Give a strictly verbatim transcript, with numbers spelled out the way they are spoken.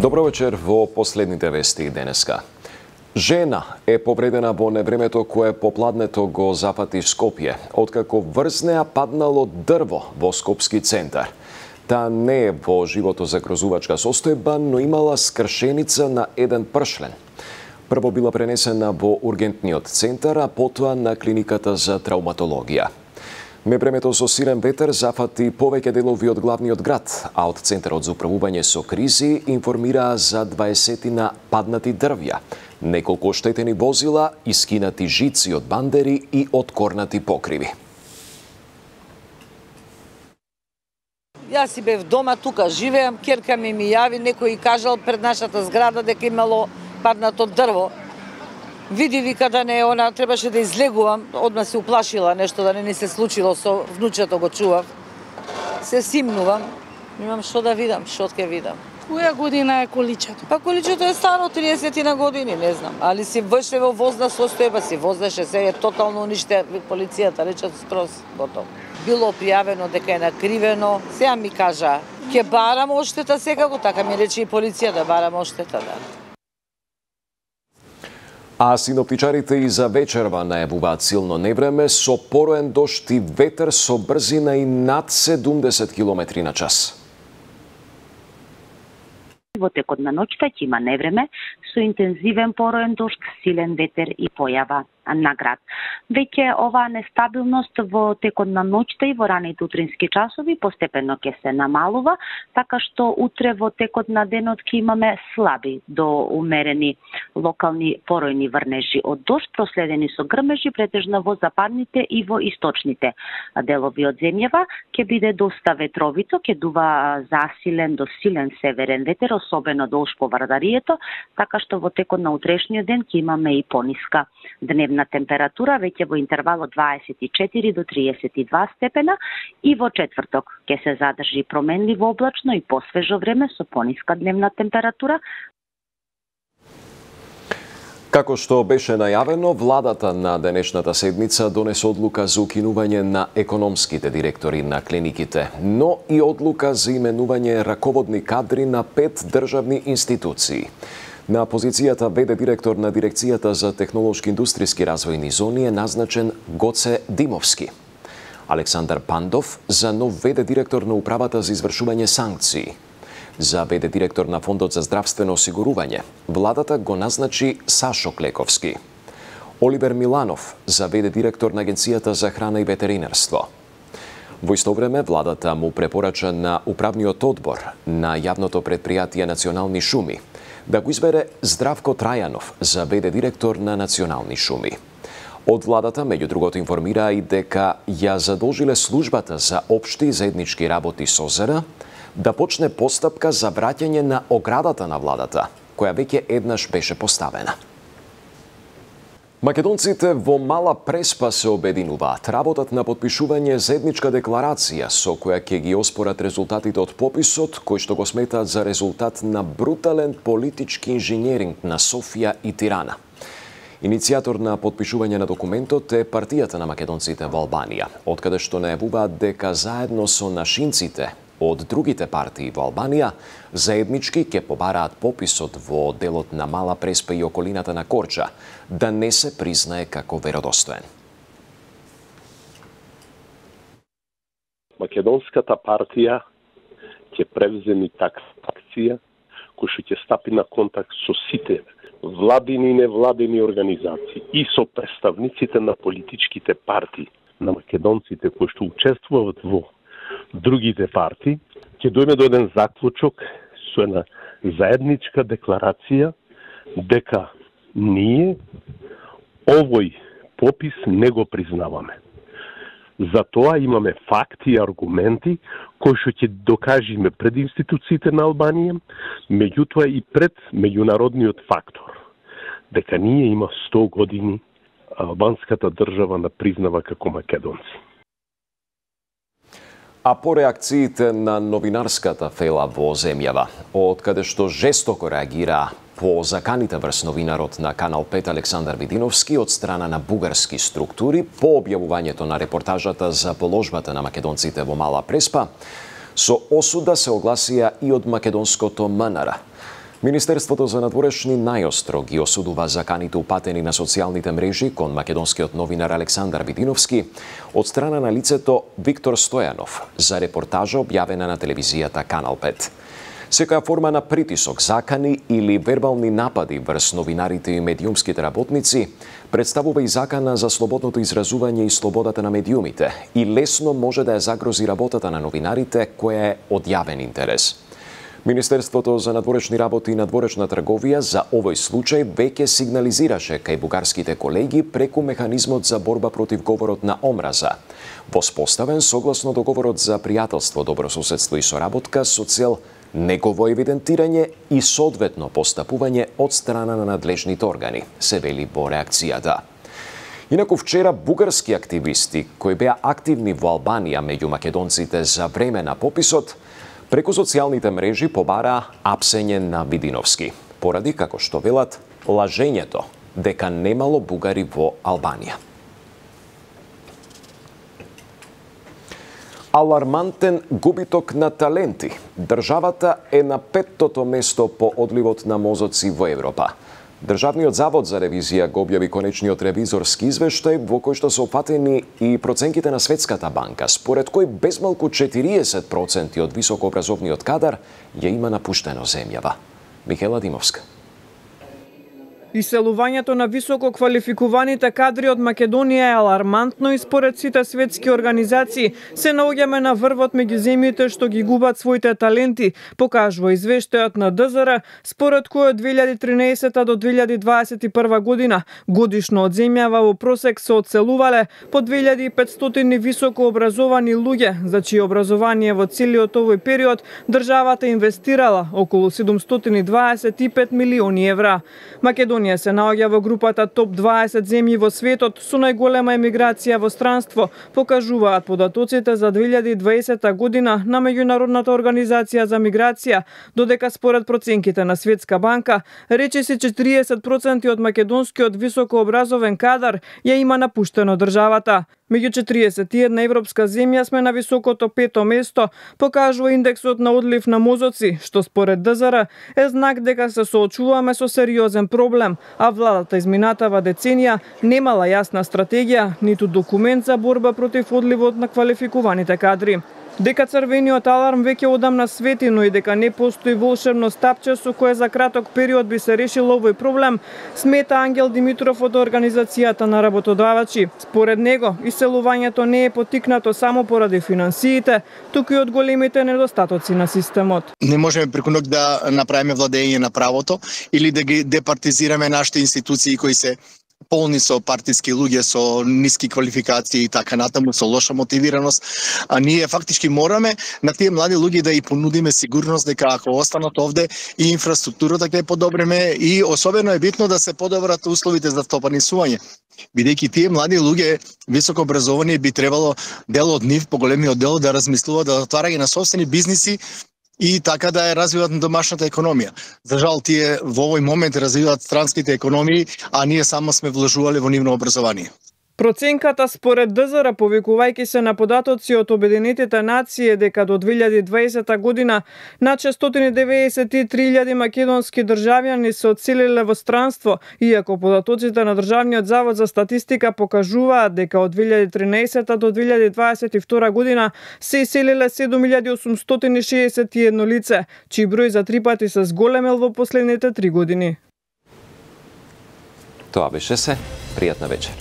Добро вечер во последните вести денеска. Жена е повредена во невремето кое попладнето го запати Скопје, откако врз неа паднало дрво во Скопски центар. Таа не е во живото загрозувачка состојба, но имала скршеница на еден пршлен. Прво била пренесена во ургентниот центар, а потоа на клиниката за травматологија. Невремето со силен ветер зафати повеќе делови од главниот град, а од Центарот за управување со кризи информираа за дваесетина паднати дрвја, неколку оштетени возила, искинати жици од бандери и откорнати покриви. Јас си бев дома, тука живеам, ќерка ми ми јави, некој и кажал пред нашата зграда дека имало паднато дрво. Види, вика да не, она требаше да излегувам, одма се уплашила нешто да не ни се случило со внучето, го чував. Се симнувам, имам што да видам, што ќе видам. Која година е количето? Па количето е старо триесет на години, не знам, али си врше во возна состојба, си вознеше, се е тотално униште, полицијата речат скроз готово. Било пријавено дека е накривено, сега ми кажа, ќе барам оштета секако, така ми рече и полиција да барам оштета, да. А синоптичарите и за вечерва најавуваат силно невреме со пороен дожд и ветер со брзина и над седумдесет километри на час. Во текот на ноќта ќе има невреме со интензивен пороен дожд, силен ветер и појава на град. Веќе оваа нестабилност во текот на ноќта и во раните утрински часови постепено ќе се намалува, така што утре во текот на денот ќе имаме слаби до умерени локални поројни врнежи од дожд, проследени со грмежи претежно во западните и во источните делови од земјава. Ќе биде доста ветровито, ќе дува засилен до силен северен ветер, особено долж по Вардарието, така што во текот на утрешниот ден ќе имаме и пониска дневна на температура, веќе во интервал од дваесет и четири до триесет и два степена, и во четврток ќе се задржи променливо облачно и посвежо време со пониска дневна температура. Како што беше најавено, владата на денешната седмица донесе одлука за укинување на економските директори на клиниките, но и одлука за именување раководни кадри на пет државни институции. На позицијата ве-де директор на Дирекцијата за технолошки индустријски развојни зони е назначен Гоце Димовски. Александар Пандов за нов ве-де директор на Управата за извршување санкции. За ве-де директор на Фондот за здравствено осигурување, владата го назначи Сашо Клековски. Оливер Миланов за ве-де директор на Агенцијата за храна и ветеринарство. Во исто време, владата му препорача на Управниот одбор на јавното предпријатие Национални шуми да го избере Здравко Трајанов за ве-де директор на Национални шуми. Од владата, меѓу другото, информираа и дека ја задолжиле службата за општи и заеднички работи СОЗР да почне постапка за враќање на оградата на владата, која веќе еднаш беше поставена. Македонците во Мала Преспа се обединуваат. Работат на потпишување заедничка декларација со која ќе ги оспорат резултатите од пописот, кој што го сметаат за резултат на брутален политички инженеринг на Софија и Тирана. Иницијатор на потпишување на документот е партијата на македонците во Албанија, откаде што најавуваат дека заедно со нашинците од другите партии во Албанија заеднички ќе побараат пописот во делот на Мала Преспа и околината на Корча да не се признае како веродостоен. Македонската партија ќе превземи таква акција која што ќе стапи на контакт со сите владини и невладини организации и со представниците на политичките партии на македонците кои што учествуваат во другите партии, ќе дојме до еден заклучок со една заедничка декларација дека ние овој попис не го признаваме. За тоа имаме факти и аргументи кои што ќе докажеме пред институциите на Албанија, меѓутоа и пред меѓународниот фактор, дека ние има сто години албанската држава на признава како македонци. А по реакциите на новинарската фела во земјава, од каде што жестоко реагира по заканите врз новинарот на Канал пет Александар Видиновски од страна на бугарски структури по објавувањето на репортажата за положбата на македонците во Мала Преспа, со осуда се огласија и од македонското МНР. Министерството за надворешни најостро ги осудува заканите упатени на социјалните мрежи кон македонскиот новинар Александар Видиновски од страна на лицето Виктор Стојанов за репортажа објавена на телевизијата Канал пет. Секоја форма на притисок, закани или вербални напади врз новинарите и медиумските работници представува и закана за слободното изразување и слободата на медиумите и лесно може да ја загрози работата на новинарите која е од јавен интерес. Министерството за надворешни работи и надворешна трговија за овој случај веќе сигнализираше кај бугарските колеги преку механизмот за борба против говорот на омраза, воспоставен согласно договорот за пријателство, добрососедство и соработка со цел негово евидентирање и соодветно постапување од страна на надлежните органи, се вели во реакцијата. Инаку вчера бугарски активисти кои беа активни во Албанија меѓу македонците за време на пописот, преку социјалните мрежи побараа апсење на Видиновски, поради, како што велат, лажењето дека немало бугари во Албанија. Алармантен губиток на таленти. Државата е на петтото место по одливот на мозоци во Европа. Државниот завод за ревизија го објави конечниот ревизорски извештај во кој што се опатени и проценките на Светската банка, според кој безмалку четириесет проценти од високообразовниот кадар ја има напуштено земјава. Михела Димовска. Иселувањето на високо квалификуваните кадри од Македонија е алармантно и според сите светски организации се наоѓаме на врвот меѓу земјите што ги губат своите таленти, покажува извештајот на Д З Р, според кој од две илјади и тринаесета до две илјади дваесет и прва година годишно од земјава во просек се одселувале по две илјади и петстотини високо образовани луѓе, за чие образование во целиот овој период државата инвестирала околу седумстотини дваесет и пет милиони евра. Македонија се наоѓа во групата топ дваесет земји во светот со најголема емиграција во странство, покажуваат податоците за две илјади и дваесета година на Меѓународната организација за миграција, додека според проценките на Светска банка, речиси четириесет проценти од македонскиот високообразовен кадар ја има напуштено државата. Меѓу четириесет и една европска земја сме на високото пето место, покажува индексот на одлив на мозоци, што според Д З Р е знак дека се соочуваме со сериозен проблем, а владата изминатава деценија немала јасна стратегија, ниту документ за борба против одливот на квалификуваните кадри. Дека црвениот аларм веќе одамна свети, но и дека не постои волшебно стапче со кое за краток период би се решил овој проблем, смета Ангел Димитров од Организацијата на работодавачи. Според него, иселувањето не е потикнато само поради финансиите, туку и од големите недостатоци на системот. Не можеме преку ноќ да направиме владење на правото или да ги департизираме нашите институции кои се полни со партиски луѓе со ниски квалификации и така натаму, со лоша мотивираност, а ние фактички мораме на тие млади луѓе да и понудиме сигурност дека ако останат овде и инфраструктурата ќе подобриме и особено е битно да се подобрат условите за встопанисување. Бидејќи тие млади луѓе високо образовани би требало дел од нив, поголемиот дел да размислуваат да отварање на собствени бизниси и така да ја развиваат на домашната економија. За жал, тие во овој момент развиваат странските економии, а ние само сме вложувале во нивно образование. Проценката според Д З Р, повикувајќи се на податоци од Обединетите нации, дека до две илјади и дваесета година над шестстотини деведесет и три илјади македонски државјани се одселиле во странство, иако податоците на Државниот завод за статистика покажуваат дека од две илјади и тринаесета до две илјади дваесет и втора година се иселиле седум илјади осумстотини шеесет и едно лице, чиј број за три пати се зголемил во последните три години. Тоа беше се. Пријатна вечер.